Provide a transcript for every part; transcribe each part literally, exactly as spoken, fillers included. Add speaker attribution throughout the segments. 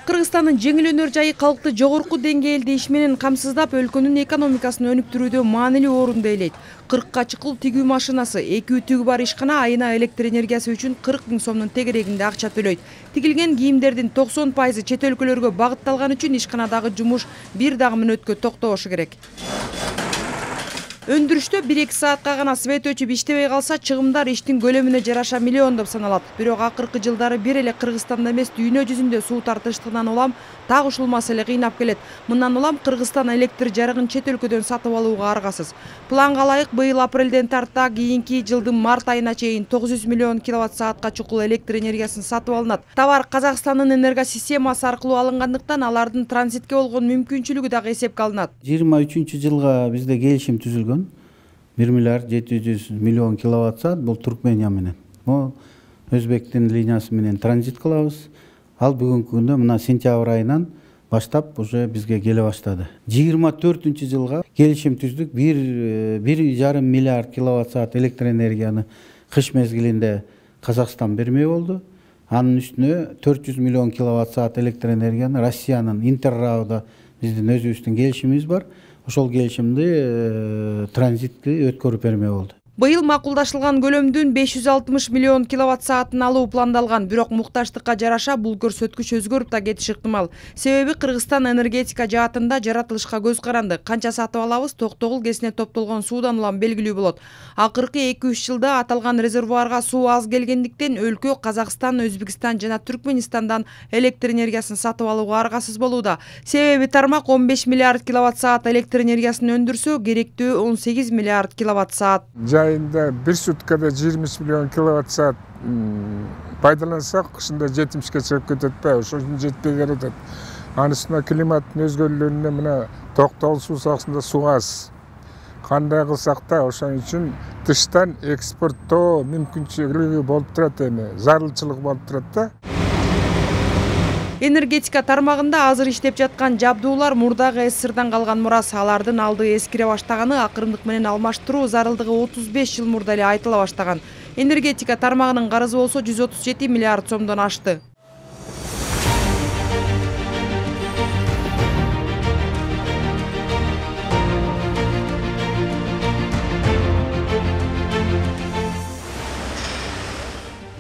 Speaker 1: Кыргызстандын жеңил өнөр жайы калкты жогорку деңгээлде иш менен камсыздап, өлкөнүн экономикасын өнүктүрүүдө маанилүү орунду ээлейт. кыркка чыкул тигүү машинасы, эки ütүгү бар ишкана айына электр энергиясы үчүн кырк миң сомдун тегерегинде акча төлөйт. Тигилген кийимдердин токсон пайызы чет өлкөлөргө багытталган үчүн ишканадагы жумуш бир дагы мүнөткө токтобошу керек. Өндүрүштө бир эки саатка гана свет өчүп иштебей калса, чыгымдар иштин көлөмүнө жараша миллиондоп саналат. Бирок акыркы жылдары бир эле Кыргызстанда эмес, дүйнө жүзүндө суу тартыштыгынан улам так ушул маселе кыйнап келет. Мындан улам Кыргызстан электр жарыгын чет өлкөдөн сатып алууга аргасыз. Планга ылайык быйыл апрелден тарта кийинки жылдын март айына чейин тогуз жүз миллион киловатт саатка чукул электр энергиясын сатып алынат. Товар Казакстандын энергосистемасы аркылуу алынгандыктан алардын транзитке болгон мүмкүнчүлүгү дагы эсепке алынат.
Speaker 2: жыйырма үчүнчү жылга бизде келишим түзүлгөн. бир миллиард жети жүз миллион киловатт саат бул Туркмения менен. Бул Өзбектин линиясы менен транзит кылабыз. Ал бүгүнкү күндө мына сентябрь айынан баштап уже бизге келе баштады. жыйырма төртүнчү жылга келишим түздүк. бир жарым миллиард киловатт саат электр энергияны кыш мезгилинде Казакстан бермей болду. Анын үстүнө төрт жүз миллион киловатт саат электр энергияны Россиянын Интеррауда биздин өзүбүздүн келишимибиз бар. Ошол келишимди транзитти өткөрүп бермей болду.
Speaker 1: Быйыл макулдашылган көлөмдүн беш жүз алтымыш миллион киловатт саатын алуу пландалган, бирок муктаждыкка жараша бул көрсөткүч өзгөрүп да кетиши ыктымал. Себеби Кыргызстан энергетика жаатында жаратылышка көз каранды. Канча сатып алабыз, Токтогул кесине топтолгон суудан улам белгилүү болот. Акыркы эки үч жылда аталган резервуарга суу аз келгендиктен өлкө Казакстан, Өзбекстан жана Түркменистандан электр энергиясын сатып алууга аргасыз болууда. Себеби тармак он беш миллиард киловатт саат электр энергиясын өндүрсө, керектүү он сегиз миллиард киловатт саат.
Speaker 3: Айында бир суткада жыйырма миллион киловатт саат пайдалансак, кышында жетимишке чыгып кетет да, ошол үчүн жетпей келатат. Анын үстүнө климаттын өзгөрүүлөрүнө мына Токтогул суу сагасында суу аз. Кандай кылсак да ошон үчүн тыштан экспорттоо мүмкүнчүлүгү болуп турат, эми зарылчылык болуп турат да.
Speaker 1: Энергетика тармагында азыр иштеп жаткан жабдуулар мурдагы СССРдан калган мурас. Алардын алды эскире баштаганы, акырындык менен алмаштыруу зарылдыгы отуз беш жыл мурда эле айтыла баштаган. Энергетика тармагынын карызы болсо жүз отуз жети миллиард сомдон ашты.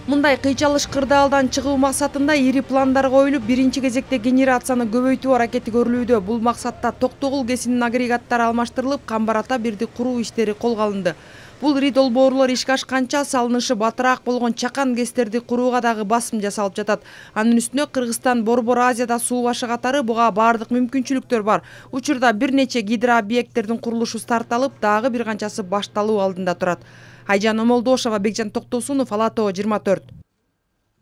Speaker 1: Мындай кыйчалыш кырдаалдан чыгуу максатында ири пландар коюлуп, биринчи кезекте генерацияны көбөйтүү аракети көрүлүүдө. Бул максатта Токтогул кесинин агрегаттары алмаштырылып, Камбар-Ата бирди куруу иштери колго алынды. Бул ри долбоорлор ишке ашканча салынышы батыраак болгон чакан кестерди курууга дагы басым жасалып жатат. Анын үстүнө Кыргызстан Борбор Азияда суу башы катары буга бардык мүмкүнчүлүктөр бар. Учурда бир нече гидрообъекттердин курулушу старталып, дагы бир канчасы башталуу алдында турат. Айжан Омолдошова, Бекжан Токтосунов, Ала Тоо жыйырма төрт.